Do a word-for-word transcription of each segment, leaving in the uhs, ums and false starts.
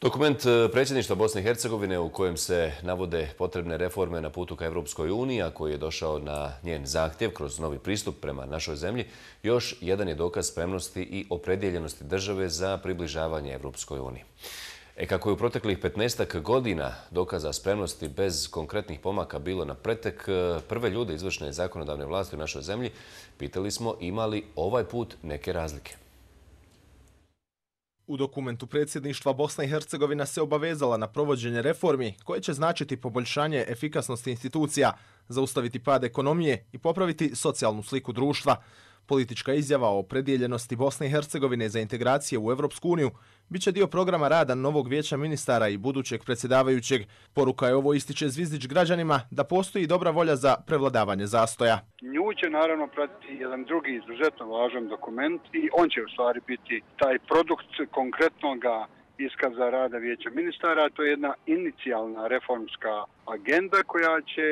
Dokument predsjedništva Bosne i Hercegovine u kojem se navode potrebne reforme na putu ka Evropskoj uniji, a koji je došao na njen zahtjev kroz novi pristup prema našoj zemlji, još jedan je dokaz spremnosti i opredjeljenosti države za približavanje Evropskoj uniji. E kako je u proteklih petnaestak godina dokaza spremnosti bez konkretnih pomaka bilo na pretek, prve ljude izvršne zakonodavne vlasti u našoj zemlji pitali smo ima li ovaj put neke razlike. U dokumentu predsjedništva Bosna i Hercegovina se obavezala na provođenje reformi koje će značiti poboljšanje efikasnosti institucija, zaustaviti pad ekonomije i popraviti socijalnu sliku društva. Politička izjava o opredjeljenosti Bosne i Hercegovine za integracije u Evropsku uniju biće dio programa rada novog vijeća ministara i budućeg predsjedavajućeg. Poruka je ovo, ističe Zvizdić građanima, da postoji dobra volja za prevladavanje zastoja. Nju će naravno pratiti jedan drugi izuzetno važan dokument i on će u stvari biti taj produkt konkretnoga iskaza rada vijeća ministara. To je jedna inicijalna reformska agenda koja će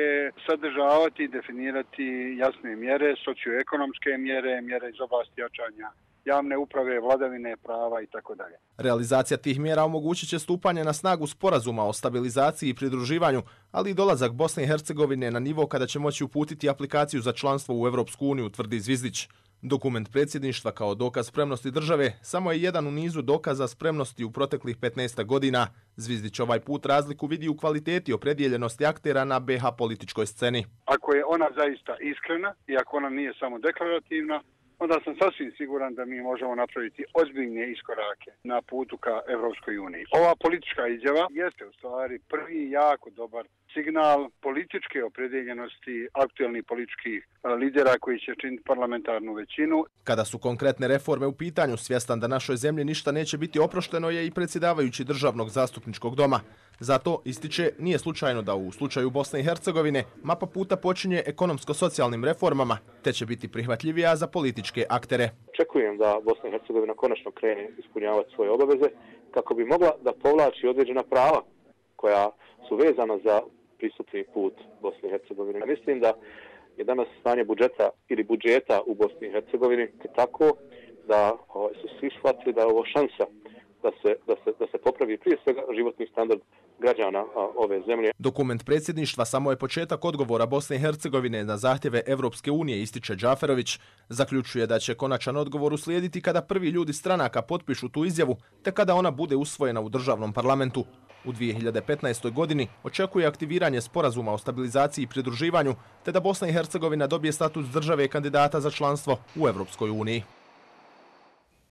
sadržavati i definirati jasne mjere, socioekonomske mjere, mjere iz oblasti jačanja javne uprave, vladavine prava i tako dalje. Realizacija tih mjera omogućit će stupanje na snagu sporazuma o stabilizaciji i pridruživanju, ali i dolazak Bosne i Hercegovine na nivo kada će moći uputiti aplikaciju za članstvo u Evropsku uniju, tvrdi Zvizdić. Dokument predsjedništva kao dokaz spremnosti države samo je jedan u nizu dokaza spremnosti u proteklih petnaestak godina. Zvizdić ovaj put razliku vidi u kvaliteti opredjeljenosti aktera na be ha političkoj sceni. Ako je ona zaista iskrena i ako ona nije samo deklarativna, onda sam sasvim siguran da mi možemo napraviti ozbiljne iskorake na putu ka Evropskoj uniji. Ova politička izjava jeste u stvari prvi jako dobar signal političke opredjeljenosti aktuelnih političkih lidera koji će činiti parlamentarnu većinu. Kada su konkretne reforme u pitanju, svjestan da našoj zemlji ništa neće biti oprošteno je i predsjedavajući Državnog zastupničkog doma. Zato, ističe, nije slučajno da u slučaju Bosne i Hercegovine mapa puta počinje ekonomsko-socijalnim reformama, te će biti prihvatljivija za političke aktere. Očekujem da Bosna i Hercegovina konačno krene ispunjavati svoje obaveze kako bi mogla da povlači određena prava koja su vezana za pristupni put Bosne i Hercegovine. Mislim da je danas stanje budžeta ili budžeta u Bosni i Hercegovini tako da su svi shvatili da je ovo šansa da se, da se, da se popravi prije svega životni standard građana ove zemlje. Dokument predsjedništva samo je početak odgovora Bosne i Hercegovine na zahtjeve Evropske unije, ističe Džaferović. Zaključuje da će konačan odgovor uslijediti kada prvi ljudi stranaka potpišu tu izjavu, te kada ona bude usvojena u državnom parlamentu. U dvije hiljade petnaestoj. godini očekuje aktiviranje sporazuma o stabilizaciji i pridruživanju, te da Bosna i Hercegovina dobije status države kandidata za članstvo u Evropskoj uniji.